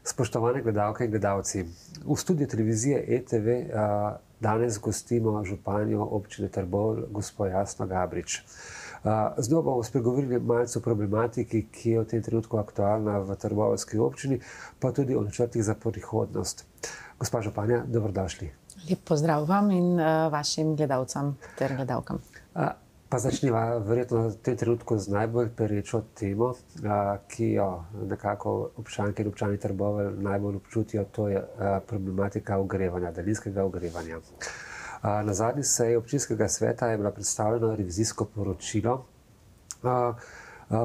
Spoštovane gledalke in gledalci, v studiu televizije ETV danes gostimo županjo občine Trbovlje, gospo Jasno Gabrič. Z njo bomo spregovorili malce o problematiki, ki je v tem trenutku aktualna v trboveljski občini, pa tudi o načrtih za prihodnost. Gospa županja, dobrodošli. Lep pozdrav vam in vašim gledalcem ter gledalkam. Pa začniva verjetno v tem trenutku z najbolj perečo temo, ki jo nekako občanke in občani Trbovelj najbolj občutijo, to je problematika ogrevanja, daljinskega ogrevanja. Na zadnji seji občinskega sveta je bilo predstavljeno revizijsko poročilo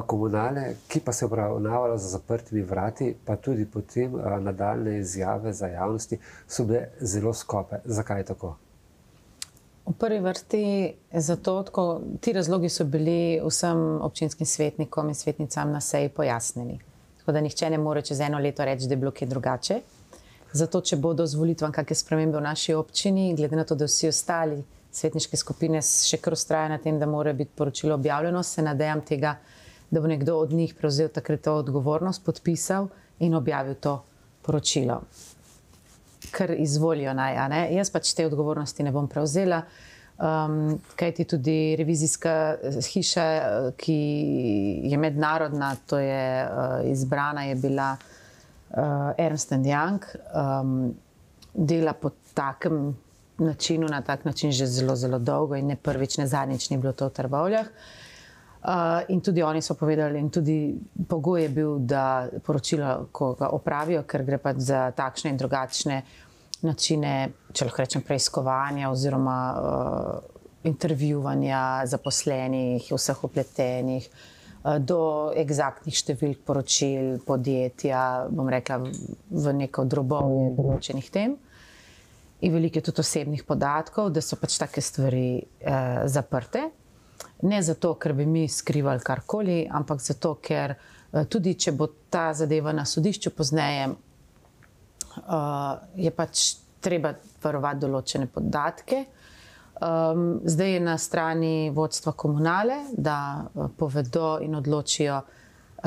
komunale, ki pa se je obravnavalo za zaprtimi vrati, pa tudi potem nadaljne izjave za javnosti so bile zelo skope. Zakaj je tako? V prvi vrsti zato, ti razlogi so bili vsem občinskim svetnikom in svetnicam na seji pojasnjeni. Tako da nihče ne more čez eno leto reči, da je bilo kaj drugače. Zato, če bodo z volitvam kakšne spremembe v naši občini, glede na to, da vsi ostali svetniške skupine še kar vztrajajo na tem, da mora biti poročilo objavljeno, se nadejam tega, da bo nekdo od njih prevzel takrat to odgovornost, podpisal in objavil to poročilo. Kar izvolijo naj, a ne? Jaz pač te odgovornosti ne bom prevzela, kajti tudi revizijska hiša, ki je mednarodna, to je izbrana, je bila Ernst & Young, dela po takem načinu, na tak način že zelo, zelo dolgo in ne prvič, ne zadnjič ni bilo to v Trbovljah. In tudi oni so povedali, in tudi pogoj je bil, da poročilo, ko ga opravijo, ker gre pač za takšne in drugačne načine, če lahko rečem, preiskovanja oziroma intervjuvanja zaposlenih, vseh vpletenih, do eksaktnih številk poročil podjetja, bom rekla, v neko drobovje določenih tem. In veliko je tudi osebnih podatkov, da so pač take stvari zaprte. Ne zato, ker bi mi skrivali karkoli, ampak zato, ker tudi, če bo ta zadeva na sodišču pozneje, je pač treba varovati določene podatke. Zdaj je na strani vodstva komunale, da povedo in odločijo,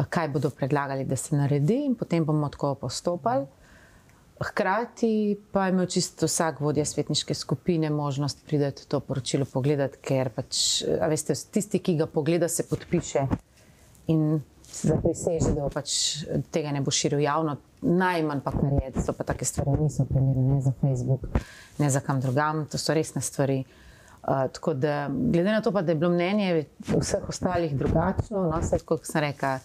kaj bodo predlagali, da se naredi, in potem bomo tako postopali. Hkrati pa je imel čisto vsak vodja svetniške skupine možnost priti to poročilo pogledati, ker pač, a veste, tisti, ki ga pogleda, se podpiše in zapriseže, da pač tega ne bo širil javno, najmanj pa kar je, to pa take stvari niso primerne, ne za Facebook, ne za kam drugam, to so resne stvari. Tako da, glede na to pa, da je bilo mnenje vseh ostalih drugačno, no, vse, kot sem rekla,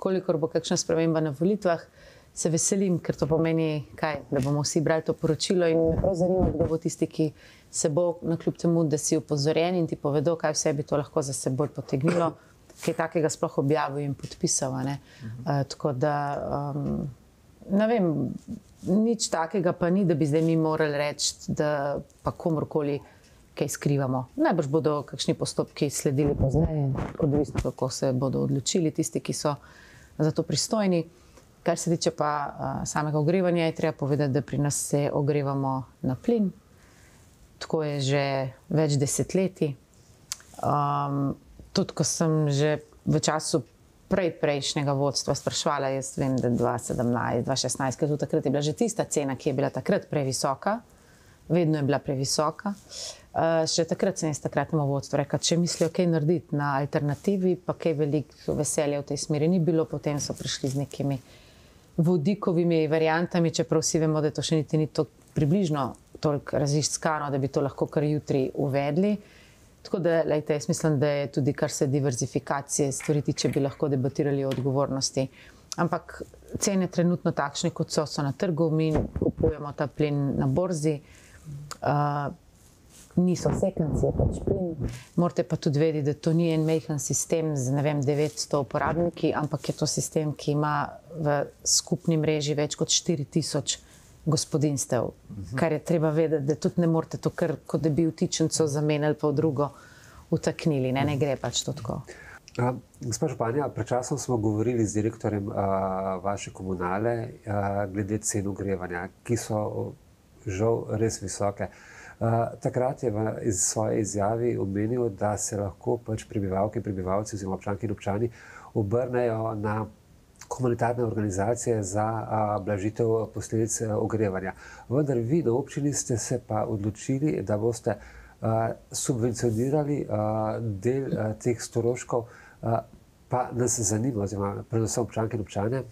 kolikor bo kakšna sprememba na volitvah, se veselim, ker to pomeni, kaj, da bomo vsi brali to poročilo in me prav zanima, kdo bo tisti, ki se bo nakljub temu, da si upozorjen in ti povedo, kaj vse bi to lahko za seboj potegnilo, kaj takega sploh objavil in podpisal. Tako da, ne vem, nič takega pa ni, da bi zdaj mi morali reči, da pa komorkoli kaj skrivamo. Najbrž bodo kakšni postopki sledili pozneje, odvisno kako se bodo odločili tisti, ki so za to pristojni. Kar se tiče pa samega ogrevanja, je treba povedati, da pri nas se ogrevamo na plin. Tako je že več desetletij. Tudi ko sem že v času prejšnjega vodstva spraševala, jaz vem, da 2017, 2016, ker tudi takrat je bila že tista cena, ki je bila takrat previsoka, vedno je bila previsoka. Še takrat sem jaz takratnemu vodstvu rekla, če mislijo kaj narediti na alternativi, pa kaj veliko veselja v tej smeri ni bilo, potem so prišli z nekimi vodikovimi variantami, čeprav vsi vemo, da to še niti ni približno toliko raziskano, da bi to lahko kar jutri uvedli. Tako da, lejte, jaz mislim, da je tudi kar se diverzifikacije stvari tiče, bi lahko debatirali o odgovornosti. Ampak cene trenutno takšne, kot so na trgu, mi kupujemo ta plin na borzi, niso sekanci, je pač plin. Morate pa tudi vedeti, da to ni en majhen sistem z, ne vem, 900 uporabniki, ampak je to sistem, ki ima v skupni mreži več kot 4000 gospodinjstev. Kar je treba vedeti, da tudi ne morate to kar, kot da bi vtičnico zamenjali pa v drugo vtaknili, ne gre pač to tako. Gospa županja, pred časom smo govorili z direktorjem vaše komunale glede cen ogrevanja, ki so žal res visoke. Takrat je v svoji izjavi omenil, da se lahko pač prebivalke in prebivalci oziroma občanke in občani obrnejo na humanitarne organizacije za blažitev posledic ogrevanja. Vendar vi na občini ste se pa odločili, da boste subvencionirali del teh stroškov, pa nas zanima, oziroma predvsem občanke in občane,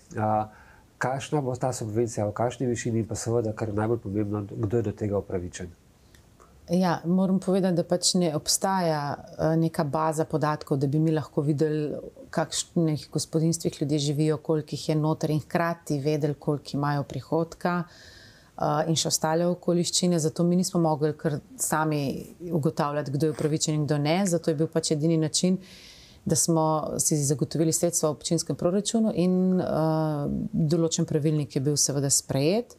kakšna bo ta subvencija, v kakšni višini in pa seveda, kar je najbolj pomembno, kdo je do tega upravičen. Ja, moram povedati, da pač ne obstaja neka baza podatkov, da bi mi lahko videli, kakšnih gospodinjstvih ljudje živijo, koliko jih je noter in hkrati vedeli, koliko imajo prihodka in še ostale okoliščine. Zato mi nismo mogli kar sami ugotavljati, kdo je upravičen in kdo ne. Zato je bil pač edini način, da smo si zagotovili sredstva v občinskem proračunu in določen pravilnik je bil seveda sprejet,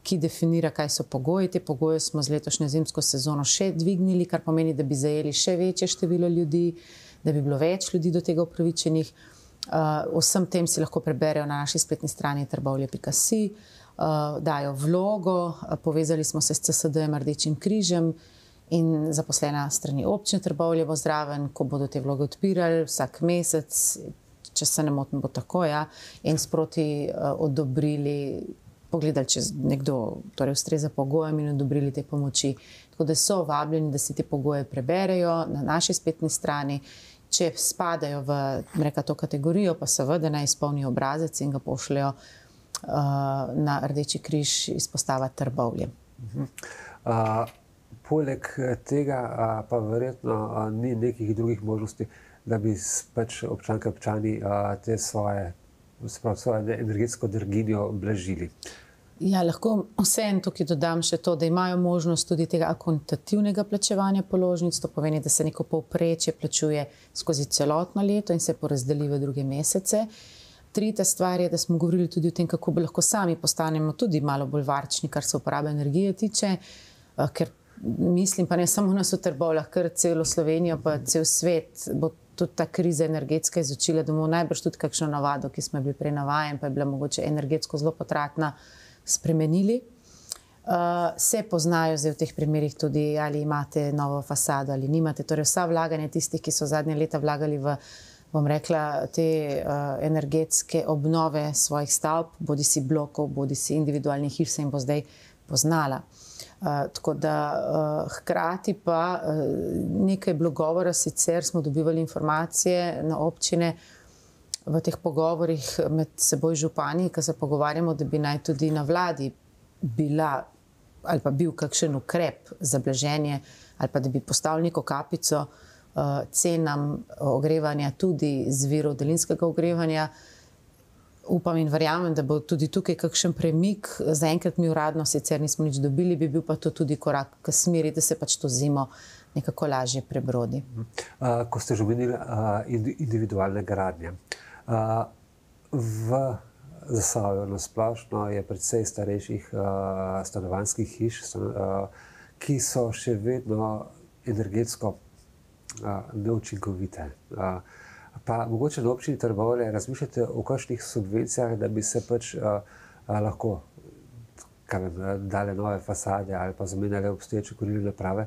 ki definira, kaj so pogoji. Te pogoje smo z letošnjo zimsko sezono še dvignili, kar pomeni, da bi zajeli še večje število ljudi, da bi bilo več ljudi do tega upravičenih. Vsem tem si lahko preberejo na naši spletni strani trbovlje.si, dajo vlogo, povezali smo se s CSD-jem Rdečim križem in zaposlena strani občine Trbovlje bo zraven, ko bodo te vloge odpirali vsak mesec, če se ne motim, bo tako, ja, in sproti odobrili, pogledali, če nekdo torej ustreza pogojem in odobrili te pomoči. Tako da so vabljeni, da si te pogoje preberejo na naši spletni strani. Če spadajo v to kategorijo, pa seveda naj izpolnijo obrazec in ga pošljajo na Rdeči križ izpostava Trbovlje. Poleg tega pa verjetno ni nekih drugih možnosti, da bi pač občanke občani te svoje energetsko draginjo blažili. Ja, lahko vseeno tukaj dodam še to, da imajo možnost tudi tega akontativnega plačevanja položnic. To pomeni, da se neko povprečje plačuje skozi celotno leto in se porazdeli v druge mesece. Tretja stvar je, da smo govorili tudi o tem, kako bi lahko sami postanemo tudi malo bolj varčni, kar se uporabe energije tiče, ker mislim, pa ne samo nas v Trbovljah, kar celo Slovenijo, pa cel svet bo tudi ta kriza energetska izučila, da bomo najbrž tudi kakšno navado, ki smo bili prej navajeni, pa je bila mogoče energetsko zelo potratna, spremenili. Se poznajo zdaj v teh primerih tudi, ali imate novo fasado ali nimate. Torej vsa vlaganja tistih, ki so zadnje leta vlagali v, bom rekla, te energetske obnove svojih stavb, bodi si blokov, bodi si individualnih hiš, se jim bo zdaj poznala. Tako da hkrati pa nekaj je bilo govora, sicer smo dobivali informacije na občine v teh pogovorih med seboj župani, ki se pogovarjamo, da bi naj tudi na vladi bila ali pa bil kakšen ukrep za blaženje ali pa da bi postavili neko kapico cenam ogrevanja tudi z virov daljinskega ogrevanja. Upam in verjamem, da bo tudi tukaj kakšen premik. Zaenkrat mi uradno sicer nismo nič dobili, bi bil pa to tudi korak k smeri, da se pač to zimo nekako lažje prebrodi. Ko ste že omenili individualne gradnje. V Zasavju na splošno je precej starejših stanovanjskih hiš, ki so še vedno energetsko neučinkovite. Pa mogoče na občini Trbovlje razmišljate o kakšnih subvencijah, da bi se pač lahko dale nove fasade ali pa zamenjale obstoječe kurilne naprave?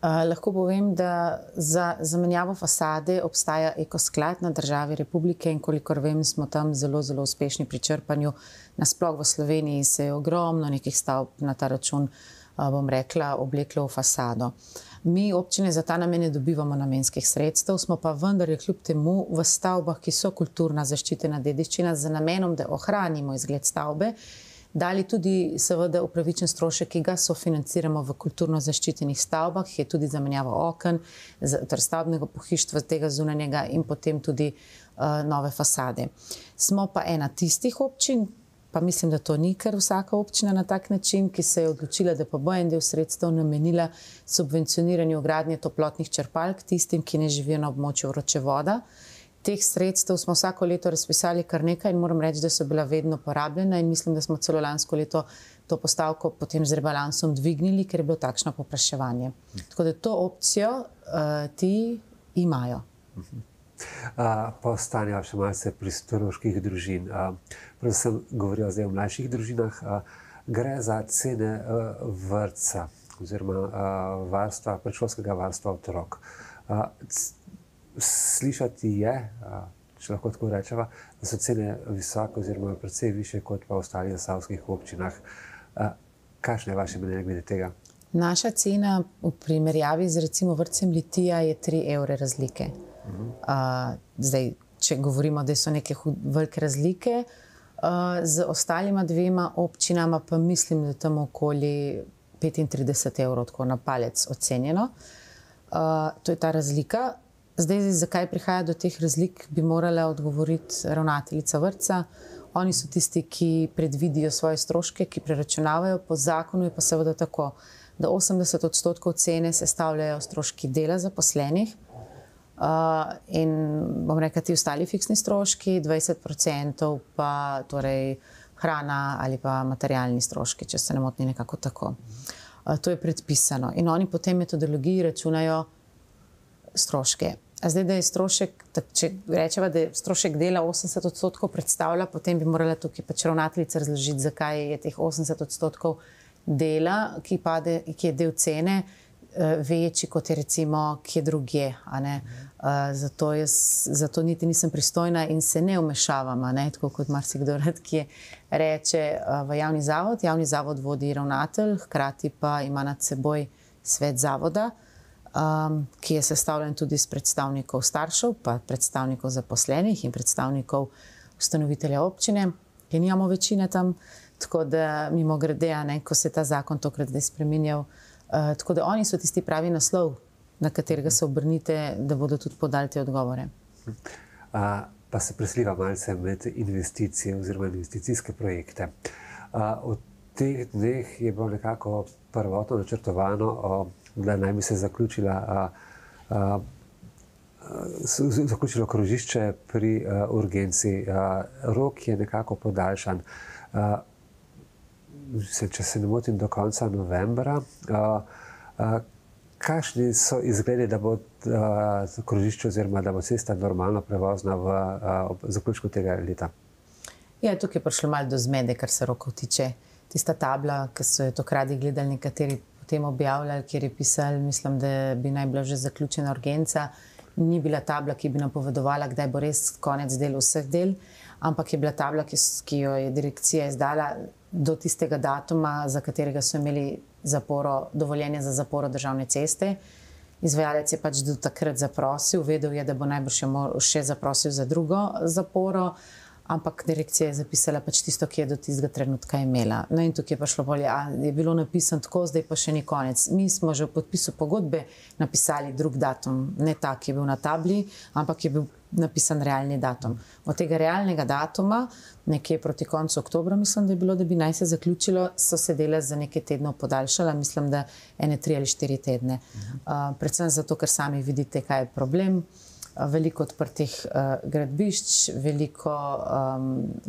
Lahko povem, da za zamenjavo fasade obstaja ekosklad na državi Republike in kolikor vem, smo tam zelo, zelo uspešni pri črpanju. Nasploh v Sloveniji se je ogromno nekih stavb na ta račun, bom rekla, obleklo v fasado. Mi občine za ta namen ne dobivamo namenskih sredstev, smo pa vendar kljub temu v stavbah, ki so kulturna zaščitena dediščina, z namenom, da ohranimo izgled stavbe, dali tudi seveda upravičen strošek, ki ga sofinanciramo v kulturno zaščitenih stavbah, ki je tudi zamenjava oken, torej stavbnega pohištva tega zunanjega in potem tudi nove fasade. Smo pa ena tistih občin, pa mislim, da to ni kar vsaka občina na tak način, ki se je odločila, da pa bo en del sredstev namenila subvencioniranju gradnje toplotnih črpalk tistim, ki ne živijo na območju vročevoda. Teh sredstev smo vsako leto razpisali kar nekaj in moram reči, da so bila vedno porabljena in mislim, da smo celo lansko leto to postavko potem z rebalansom dvignili, ker je bilo takšno povpraševanje. Tako da to opcijo ti imajo. Pa ostanejo še malce pri stroških družin. Predvsem govorijo zdaj o mlajših družinah. Gre za cene vrtca oziroma predšolskega varstva otrok. Slišati je, če lahko tako rečeva, da so cene visoke oziroma precej više kot pa v ostalih zasavskih občinah. Kakšno je vaše mnenje glede tega? Naša cena v primerjavi z recimo vrtcem Litija je 3 evre razlike. Zdaj, če govorimo, da so neke velike razlike, z ostalima dvema občinama pa mislim, da je tam okoli 35 evrov, tako na palec ocenjeno. To je ta razlika. Zdaj, zakaj prihaja do teh razlik, bi morala odgovoriti ravnateljica vrtca. Oni so tisti, ki predvidijo svoje stroške, ki preračunavajo. Po zakonu je pa seveda tako, da 80% cene sestavljajo stroški dela zaposlenih in bom rekla ti ostali fiksni stroški, 20% pa torej hrana ali pa materialni stroški, če se ne motim, nekako tako. To je predpisano in oni po tej metodologiji računajo stroške. A zdaj, da je strošek, če rečeva, da je strošek dela 80% predstavlja, potem bi morala tukaj pač ravnateljica razložiti, zakaj je teh 80% dela, ki je del cene, večji kot je recimo kje drugje. Zato niti nisem pristojna in se ne vmešavam, tako kot marsikdo rad, ki reče v javni zavod. Javni zavod vodi ravnatelj, hkrati pa ima nad seboj svet zavoda, ki je sestavljen tudi iz predstavnikov staršev, pa predstavnikov zaposlenih in predstavnikov ustanovitelja občine, ki nimamo večine tam, tako da mimogrede, ko se je ta zakon tokrat zdaj spreminjal, tako da oni so tisti pravi naslov, na katerega se obrnite, da bodo tudi podali te odgovore. Pa se presliva malce med investicije oziroma investicijske projekte. Od teh dneh je bilo nekako prvotno načrtovano, da naj bi se zaključilo krožišče pri urgenci. Rok je nekako podaljšan. Če se ne motim, do konca novembra. Kakšni so izgledi, da bo krožišče oziroma da bo cesta normalno prevozna v zaključku tega leta? Ja, tukaj je prišlo malo do zmede, kar se rokov tiče. Tista tabla, ki so jo takrat gledali nekateri potem objavljali, kjer je pisali, mislim, da bi naj bila že zaključena urgenca, ni bila tabla, ki bi napovedovala, kdaj bo res konec del vseh del, ampak je bila tabla, ki jo je direkcija izdala do tistega datuma, za katerega so imeli dovoljenje za zaporo državne ceste. Izvajalec je pač do takrat zaprosil, vedel je, da bo najbrž še zaprosil za drugo zaporo, ampak direkcija je zapisala pač tisto, ki je do tistega trenutka imela. No in tukaj je pa šlo bolje, je bilo napisano tako, zdaj pa še ni konec. Mi smo že v podpisu pogodbe napisali drug datum, ne ta, ki je bil na tabli, ampak je bil napisan realni datum. Od tega realnega datuma, nekje proti koncu oktobra, mislim, da je bilo, da bi naj se zaključilo, so se dela za nekaj tednov podaljšala, mislim, da 1, 3 ali 4 tedne. Predvsem zato, ker sami vidite, kaj je problem. Veliko odprtih gradbišč, veliko,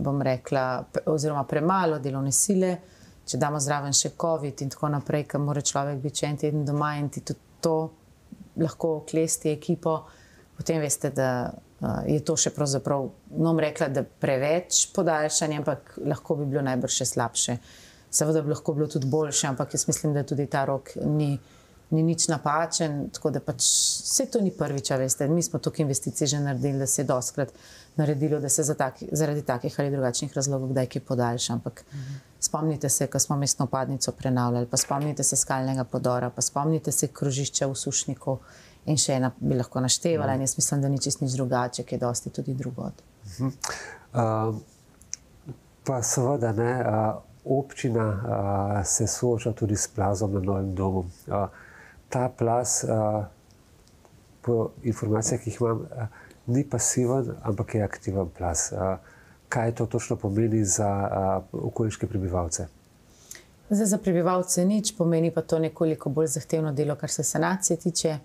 bom rekla, oziroma premalo delovne sile, če damo zraven še COVID in tako naprej, ker mora človek biti še en teden doma in ti tudi to lahko klesti ekipo, potem veste, da je to še pravzaprav, bom rekla, da preveč podaljšanje, ampak lahko bi bilo najbrž še slabše. Seveda bi lahko bilo tudi boljše, ampak jaz mislim, da tudi ta rok ni nič napačen, tako da pač vse to ni prvič, veste. Mi smo toliko investicij že naredili, da se je dostikrat naredilo, da se zaradi takih ali drugačnih razlogov kdaj kaj podaljša, ampak spomnite se, ko smo mestno vpadnico prenavljali, pa spomnite se skalnega podora, pa spomnite se krožišča v Sušniku in še ena bi lahko naštevala in jaz mislim, da ni čisto nič drugače, ki je dosti tudi drugod. Pa seveda ne, občina se sooča tudi s plazom na Novem domu. Ta plaz, po informacijah, ki jih imam, ni pasiven, ampak je aktiven plaz. Kaj to točno pomeni za okoliške prebivalce? Zdaj, za prebivalce nič, pomeni pa to nekoliko bolj zahtevno delo, kar se sanacije tiče.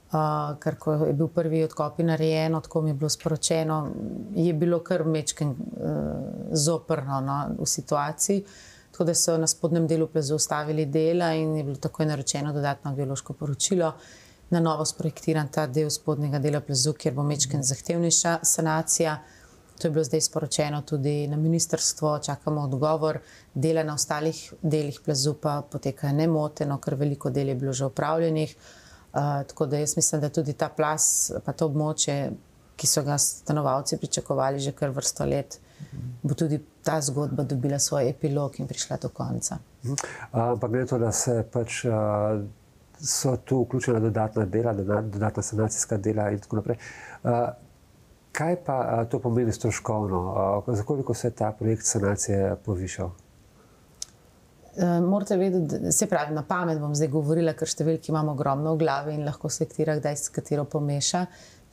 Ker ko je bil prvi odkop narejeno, tako mi je bilo sporočeno, je bilo kar mečken zoprno v situaciji. Tako da so na spodnjem delu plazu ustavili dela in je bilo takoj naročeno dodatno geološko poročilo. Na novo sprojektiran ta del spodnjega dela plazu, kjer bo mečken zahtevnejša sanacija. To je bilo zdaj sporočeno tudi na ministrstvo, čakamo odgovor. Dela na ostalih delih plazu pa potekajo nemoteno, ker veliko del je bilo že opravljenih. Tako da jaz mislim, da tudi ta plaz, pa to območje ki so ga stanovalci pričakovali že kar vrsto let, bo tudi ta zgodba dobila svoj epilog in prišla do konca. Ampak glede to, da se pač so tu vključena dodatna dela, dodatna sanacijska dela in tako naprej. Kaj pa to pomeni stroškovno? Za koliko se ta projekt sanacije povišal? Morate vedeti, se pravi, na pamet bom zdaj govorila, ker številki imamo ogromno v glavi in lahko selektira, kdaj s katero pomeša.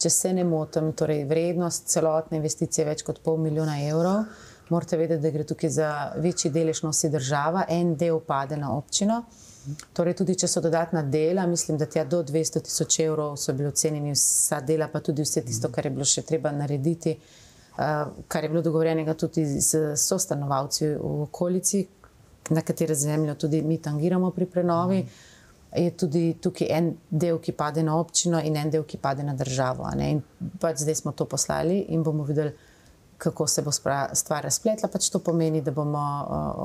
Če se ne motim, torej vrednost celotne investicije je več kot €500 000. Morate vedeti, da gre tukaj za večji delež nosi država, en del pade na občino. Torej tudi, če so dodatna dela, mislim, da tja do 200 000 € so bili ocenjeni vsa dela, pa tudi vse tisto, kar je bilo še treba narediti, kar je bilo dogovorjenega tudi s sostanovalci v okolici, na katere zemljo tudi mi tangiramo pri prenovi, je tudi tukaj en del, ki pade na občino in en del, ki pade na državo. In pač zdaj smo to poslali in bomo videli, kako se bo stvar razpletla. Pač to pomeni, da bomo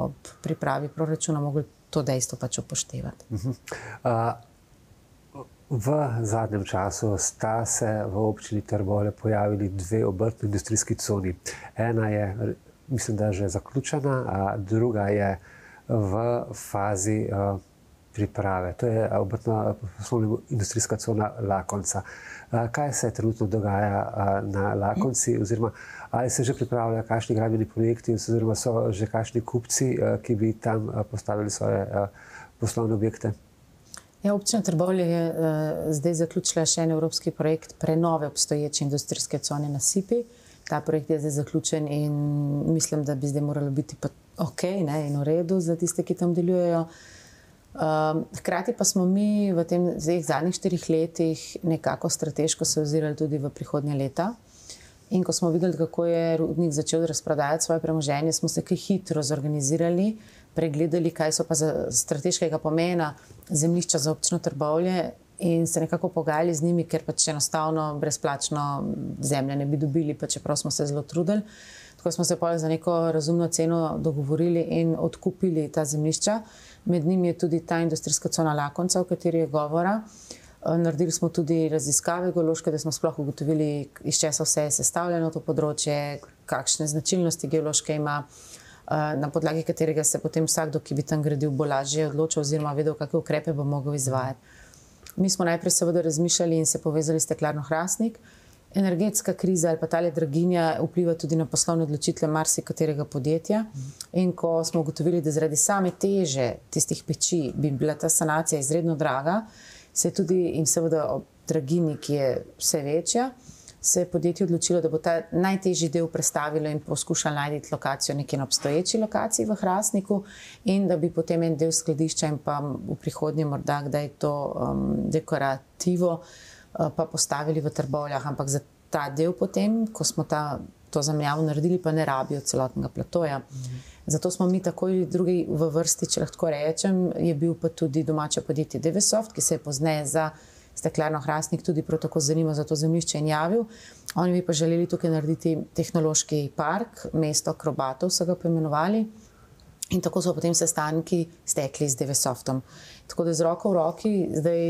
ob pripravi proračuna mogli to dejstvo pač upoštevati. V zadnjem času sta se v občini Trbovlje pojavili dve obrtno-industrijski coni. Ena je, mislim, da že zaključena, a druga je v fazi priprave. To je obrtno-industrijska cona Lakonca. Kaj se trenutno dogaja na Lakonci, oziroma ali se že pripravljajo kakšni gradbeni projekti, oziroma so že kakšni kupci, ki bi tam postavili svoje poslovne objekte? Ja, občina Trbovlje je zdaj zaključila še en evropski projekt prenove obstoječe industrijske cone na Sipi. Ta projekt je zdaj zaključen in mislim, da bi zdaj moralo biti pa ok, ne, in v redu za tiste, ki tam delujejo. Hkrati pa smo mi v tem zadnjih 4 letih nekako strateško se ozirali tudi v prihodnje leta. In ko smo videli, kako je rudnik začel razprodajati svoje premoženje, smo se kaj hitro zorganizirali, pregledali, kaj so pa za strateškega pomena zemljišča za občino Trbovlje in se nekako pogajali z njimi, ker pač enostavno brezplačno zemlje ne bi dobili, pa čeprav smo se zelo trudili. Tako smo se pa za neko razumno ceno dogovorili in odkupili ta zemljišča. Med njimi je tudi ta industrijska cona Lakonca, o kateri je govora. Naredili smo tudi raziskave geološke, da smo sploh ugotovili, iz česa vse je sestavljeno to področje, kakšne značilnosti geološke ima, na podlagi katerega se potem vsakdo, ki bi tam gradil, bo lažje odločil oziroma vedel, kakšne ukrepe bo mogel izvajati. Mi smo najprej seveda razmišljali in se povezali s Steklarno Hrastnik. Energetska kriza ali pa tale draginja vpliva tudi na poslovne odločitve marsikaterega podjetja. In ko smo ugotovili, da zaradi same teže tistih peči bi bila ta sanacija izredno draga, se je tudi in seveda ob draginji, ki je vse večja, se je podjetje odločilo, da bo ta najtežji del prestavilo in poskušalo najti lokacijo nekje na obstoječi lokaciji v Hrastniku in da bi potem en del skladišča in pa v prihodnje morda kdaj to dekorativo pa postavili v Trbovljah. Ampak za ta del potem, ko smo to zamenjavo naredili, pa ne rabijo celotnega platoja. Zato smo mi takoj drugi v vrsti, če lahko rečem, je bil pa tudi domače podjetje Devesoft, ki se je pozneje za Steklarno Hrastnik tudi prav tako zanimal za to zemljišče in javil. Oni bi pa želeli tukaj narediti tehnološki park, mesto akrobatov so ga poimenovali. In tako so potem sestanki stekli z Devesoftom. Tako da z roko v roki zdaj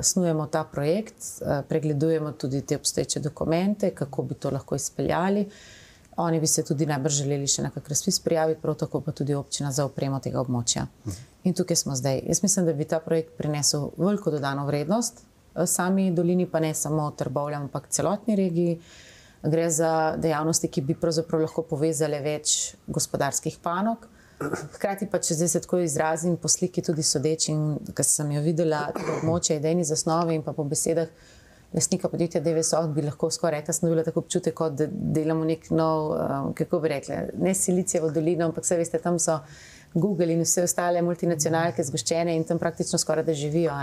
snujemo ta projekt, pregledujemo tudi te obstoječe dokumente, kako bi to lahko izpeljali. Oni bi se tudi najbrž želeli še nekak razpis prijaviti, prav tako pa tudi občina za opremo tega območja. In tukaj smo zdaj. Jaz mislim, da bi ta projekt prinesel veliko dodano vrednost sami dolini, pa ne samo Trbovljam, ampak celotni regiji. Gre za dejavnosti, ki bi pravzaprav lahko povezale več gospodarskih panog. Hkrati pa, če zdaj se tako izrazim po sliki tudi sodeči, in ko sem jo videla, to območje idejni zasnovi in pa po besedah lastnika podjetja Devesoft, bi lahko skoraj rekla, sem dobila tako občutek, kot da delamo nek nov, kako bi rekla, ne Silicijevo dolino, ampak vse veste, tam so Google in vse ostale multinacionalke zgoščene in tam praktično skoraj da živijo.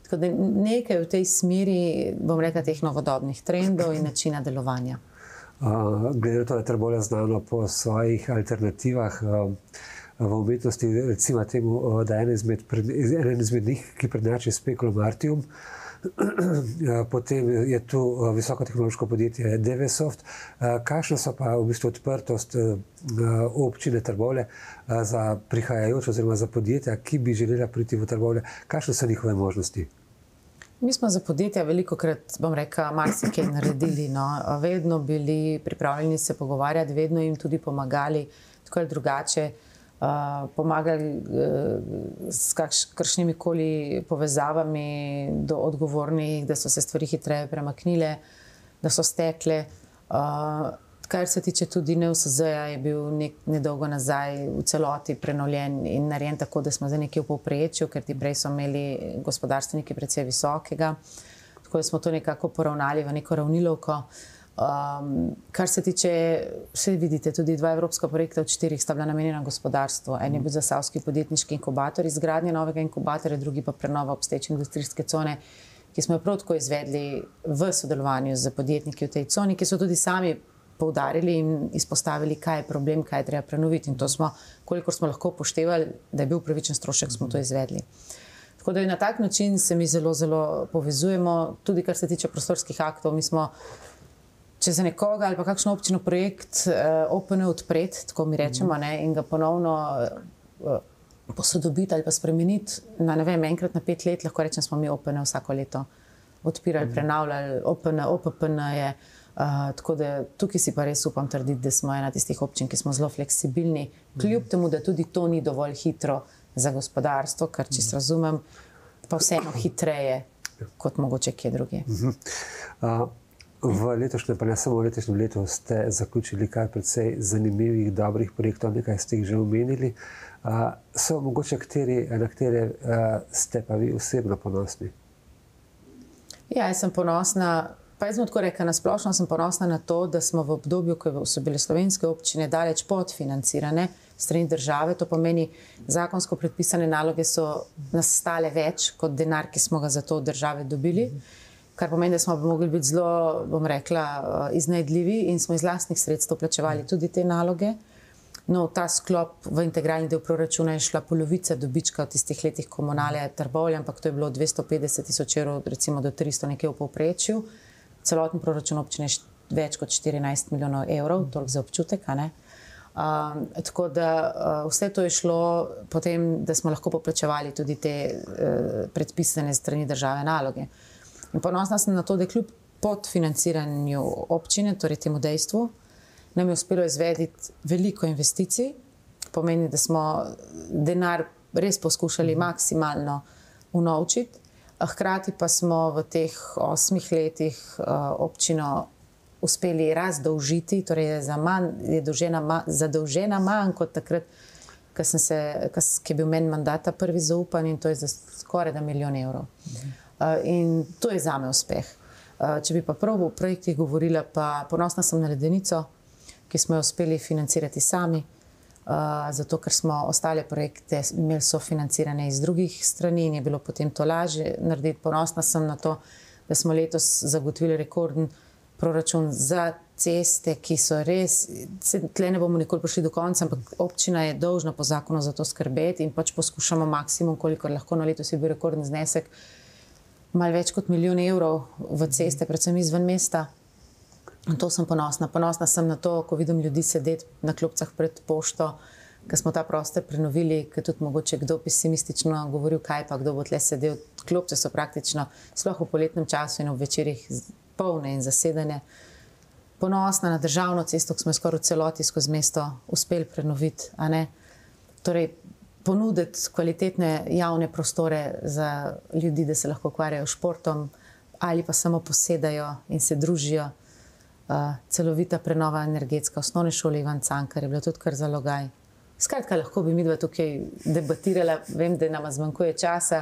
Tako da nekaj v tej smeri, bom rekla, teh novodobnih trendov in načina delovanja. Glede na to, da je Trbovlje znano po svojih alternativah v umetnosti, recimo temu, da je eden izmed njih, ki prednjači Speculum Artium. Potem je tu visokotehnološko podjetje Devesoft. Kakšna so pa v bistvu odprtost občine Trbovlje za prihajajoč oziroma za podjetja, ki bi želela priti v Trbovlje? Kakšne so njihove možnosti? Mi smo za podjetja velikokrat, bom rekla, marsikaj naredili. No. Vedno bili pripravljeni se pogovarjati, vedno jim tudi pomagali, tako ali drugače. Pomagali s kakšnimi koli povezavami do odgovornih, da so se stvari hitreje premaknile, da so stekle. Kar se tiče tudi NUSZ-ja, je bil nedolgo nazaj v celoti prenovljen in narejen tako, da smo zdaj nekje v povprečju, ker ti prej so imeli gospodarstveniki precej visokega. Tako da smo to nekako poravnali v neko ravnilovko. Kar se tiče, vse vidite, tudi 2 evropska projekta od 4 sta bila namenjena gospodarstvu. En je bil Zasavski podjetniški inkubator, izgradnja novega inkubatorja, drugi pa prenova obstoječe industrijske cone, ki smo jo prav tako izvedli v sodelovanju z podjetniki v tej coni, ki so tudi sami poudarili in izpostavili, kaj je problem, kaj je treba prenoviti. In to smo, kolikor smo lahko upoštevali, da je bil pravičen strošek, smo to izvedli. Tako da na tak način se mi zelo, zelo povezujemo. Tudi kar se tiče prostorskih aktov, mi smo, če za nekoga ali pa kakšno občino projekt OPN odpreti, tako mi rečemo, ne, in ga ponovno posodobiti ali pa spremeniti na, ne vem, enkrat na 5 let, lahko rečem, smo mi OPN vsako leto odpirali, prenavljali, OPPN je. Tako da tukaj si pa res upam trditi, da smo ena tistih občin, ki smo zelo fleksibilni, kljub temu, da tudi to ni dovolj hitro za gospodarstvo, kar čisto razumem, pa vseeno hitreje kot mogoče kje druge. V letošnjem, pa ne samo v letošnjem letu, ste zaključili kar precej zanimivih, dobrih projektov, nekaj ste jih že omenili. So mogoče na katere ste pa vi osebno ponosni? Ja, jaz sem ponosna. Pa jaz bom tako rekla, nasplošno sem ponosna na to, da smo v obdobju, ko so bile slovenske občine daleč podfinancirane strani države, to pomeni, zakonsko predpisane naloge so nas stale več kot denar, ki smo ga za to od države dobili, kar pomeni, da smo mogli biti zelo, bom rekla, iznajdljivi in smo iz lastnih sredstev plačevali tudi te naloge. No, v ta sklop v integralni del proračuna je šla polovica dobička v tistih letih Komunale Trbovlje, ampak to je bilo 250 tisoč evrov, recimo do 300 nekje v povprečju. Celoten proračun občine je več kot 14 milijonov evrov, toliko za občutek. Tako da vse to je šlo potem, da smo lahko poplačevali tudi te predpisane strani države naloge. In ponosna sem na to, da kljub podfinanciranju občine, torej temu dejstvu, nam je uspelo izvediti veliko investicij. Pomeni, da smo denar res poskušali maksimalno unovčiti. Hkrati pa smo v teh 8 letih občino uspeli razdolžiti, torej je zadolžena manj kot takrat, ki je bil meni mandata prvi zaupan, in to je za skoraj 1 milijon evrov. In to je zame uspeh. Če bi pa prav o projektih govorila, pa ponosna sem na Ledenico, ki smo jo uspeli financirati sami, zato ker smo ostale projekte imeli sofinancirane iz drugih strani in je bilo potem to lažje narediti. Ponosna sem na to, da smo letos zagotovili rekorden proračun za ceste, ki so res, tle ne bomo nikoli prišli do konca, ampak občina je dolžna po zakonu za to skrbeti in pač poskušamo maksimum, kolikor lahko. Na letos je bil rekorden znesek malo več kot 1 milijon evrov v ceste, predvsem izven mesta. In to sem ponosna. Ponosna sem na to, ko vidim ljudi sedeti na klopcah pred pošto, ko smo ta prostor prenovili, ker tudi mogoče kdo pesimistično govoril, kaj pa kdo bo tle sedel. Klopce so praktično, sploh v poletnem času in ob večerih, polne in zasedene. Ponosna na državno cesto, ki smo skoraj v celoti skozi mesto uspeli prenoviti, a ne? Torej, ponuditi kvalitetne javne prostore za ljudi, da se lahko ukvarjajo s športom ali pa samo posedajo in se družijo. Celovita prenova energetska osnovne šole Ivan Cankar je bila tudi kar zalogaj. Skratka, lahko bi midva tukaj debatirala, vem, da nama zmanjkuje časa,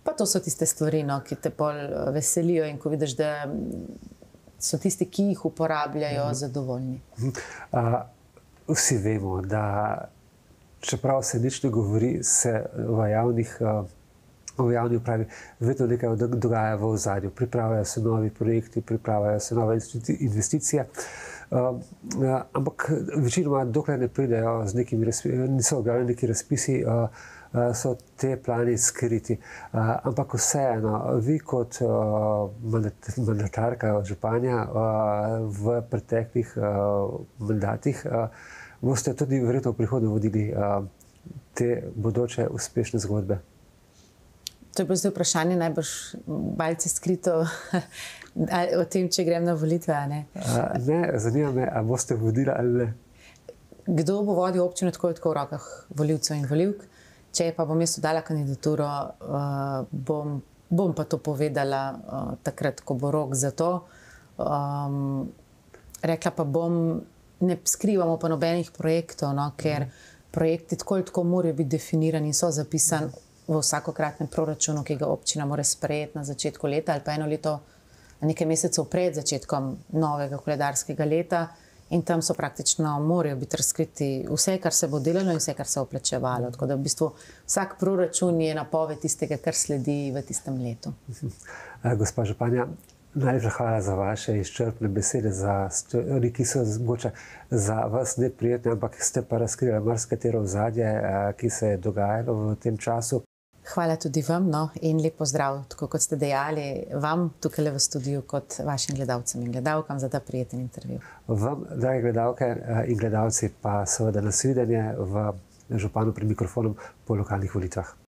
pa to so tiste stvari, no, ki te pol veselijo in ko vidiš, da so tisti, ki jih uporabljajo, zadovoljni. Vsi vemo, da čeprav se nič ne govori, se v javni upravi vedno nekaj dogaja v ozadju. Pripravljajo se novi projekti, pripravljajo se nove investicije, ampak večinoma, dokler ne pridejo z nekimi niso objavljeni neki razpisi, so te plani skriti. Ampak vseeno, vi kot mandatarka županja v preteklih mandatih boste tudi verjetno v prihodnje vodili te bodoče uspešne zgodbe. To je bilo zdaj vprašanje najbrž malce skrito o tem, če grem na volitve, a ne? Ne, zanima me, a boste vodili ali ne. Kdo bo vodil občino, tako je tako v rokah volivcev in volivk. Če pa bom jaz dala kandidaturo, bom pa to povedala takrat, ko bo rok za to. Rekla pa bom, ne skrivamo pa nobenih projektov, no, ker projekti tako ali tako morajo biti definirani in so zapisani v vsakokratnem proračunu, ki ga občina mora sprejeti na začetku leta ali pa eno leto, nekaj mesecev pred začetkom novega koledarskega leta. In tam so praktično morajo biti razkriti vse, kar se bo delalo in vse, kar se bo plačevalo. Tako da v bistvu vsak proračun je napoved tistega, kar sledi v tistem letu. Gospa županja, najlepša hvala za vaše izčrpne besede, za stvari, ki so mogoče za vas neprijetne, ampak ste pa razkrili marsikatero ozadje, ki se je dogajalo v tem času. Hvala tudi vam, no, in lep pozdrav, tako kot ste dejali, vam tukaj v studiu, kot vašim gledalcem in gledalkam za ta prijeten intervju. Vam, drage gledalke in gledalci, pa seveda nasvidenje v Županu pred mikrofonom po lokalnih volitvah.